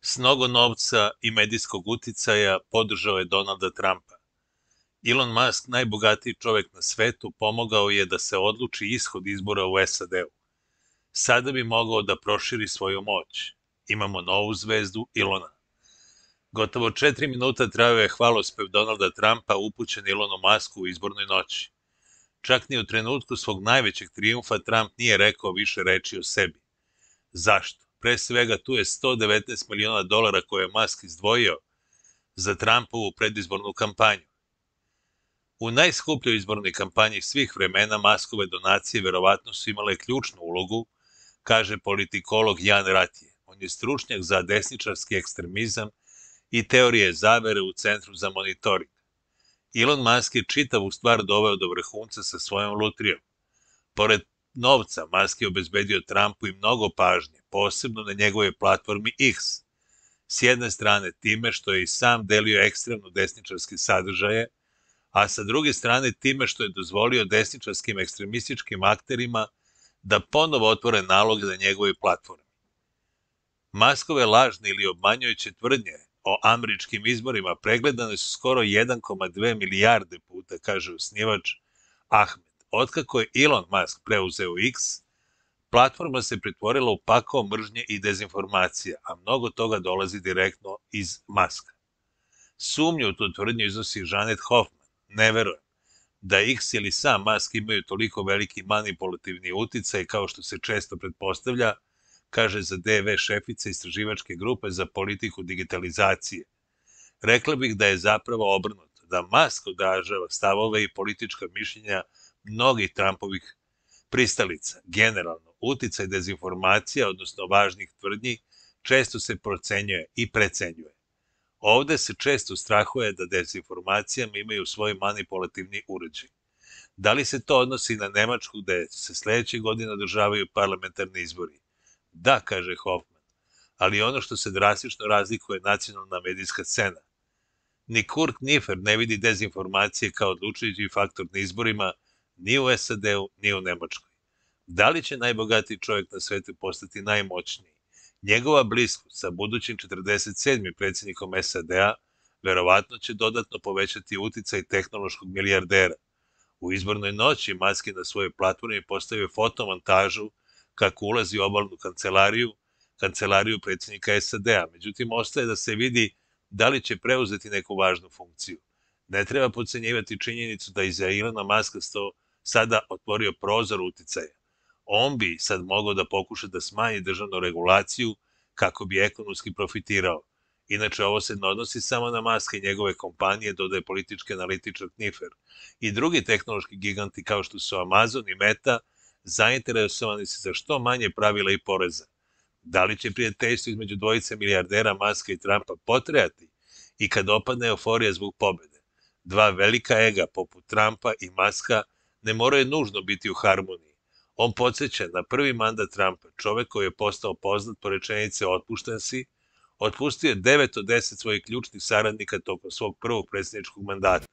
S mnogo novca i medijskog uticaja podržao je Donalda Trumpa. Elon Musk, najbogatiji čovek na svetu, pomogao je da se odluči ishod izbora u SAD-u. Sada bi mogao da proširi svoju moć. Imamo novu zvezdu Elona. Gotovo 4 minuta trajao je hvalospev Donalda Trumpa upućen Elonu Musku u izbornoj noći. Čak ni u trenutku svog najvećeg trijumfa Trump nije rekao više reči o sebi. Zašto? Pre svega tu je $119 miliona koje je Musk izdvojio za Trumpovu predizbornu kampanju. U najskupljoj izbornoj kampanji svih vremena Muskove donacije verovatno su imale ključnu ulogu, kaže politikolog Jan Ratije. On je stručnjak za desničarski ekstremizam i teorije zavere u Centru za monitoring. Elon Musk je čitavu stvar doveo do vrhunca sa svojom lutrijom. Pored novca, Musk je obezbedio Trumpu i mnogo pažnje, posebno na njegovoj platformi X. S jedne strane time što je i sam delio ekstremno desničarske sadržaje, a sa druge strane time što je dozvolio desničarskim ekstremističkim akterima da ponovo otvore nalog na njegovoj platformi. Muskove lažne ili obmanjujuće tvrdnje o američkim izborima pregledane su skoro 1,2 milijarde puta, kaže osnivač Ahmed. Otkako je Elon Musk preuzeo X, platforma se pretvorila u pakao mržnje i dezinformacija, a mnogo toga dolazi direktno iz Muska. Sumnju u tu tvrdnju iznosi Janet Hoffman. Ne verujem da X ili sam Musk imaju toliko veliki manipulativni uticaj kao što se često pretpostavlja, kaže za DV šefica istraživačke grupe za politiku digitalizacije. Rekla bih da je zapravo obrnuto, da Musk odražava stavove i politička mišljenja mnogih Trumpovih pristalica. Generalno, uticaj dezinformacija, odnosno važnih tvrdnji, često se procenjuje i precenjuje. Ovde se često strahuje da dezinformacijama imaju svoj manipulativni uređaj. Da li se to odnosi na Nemačku, gde se sledeće godine održavaju parlamentarni izbori? Da, kaže Hoffman, ali ono što se drastično razlikuje je nacionalna medijska scena. Ni Kurt Nifer ne vidi dezinformacije kao odlučujući faktor na izborima ni u SAD-u, ni u Nemačkoj. Da li će najbogatiji čovjek na svetu postati najmoćniji? Njegova bliskost sa budućim 47. predsjednikom SAD-a verovatno će dodatno povećati uticaj tehnološkog milijardera. U izbornoj noći Musk je na svojoj platformi postavio fotomontažu kako ulazi u obalnu kancelariju predsjednika SAD-a. Međutim, ostaje da se vidi da li će preuzeti neku važnu funkciju. Ne treba podcenjivati činjenicu da iza Elona Muska sada otvorio prozor uticaja. On bi sad mogao da pokuša da smanji državnu regulaciju kako bi ekonomski profitirao. Inače, ovo se ne odnosi samo na Muska i njegove kompanije, dodaje politički analitičar Nifer. I drugi tehnološki giganti kao što su Amazon i Meta zainteresovani su za što manje pravila i poreza. Da li će prijateljstvo između dvojice milijardera Muska i Trumpa potrajati i kad opadne euforija zbog pobede? Dva velika ega poput Trumpa i Muska ne moraju nužno biti u harmoniji. On podsjeća na prvi mandat Trumpa, čovek koji je postao poznat po rečenice otpušten si, otpustio je 9 od 10 svojih ključnih saradnika tokom svog prvog predsjedničkog mandata.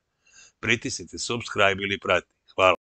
Pritisnite subscribe ili prati.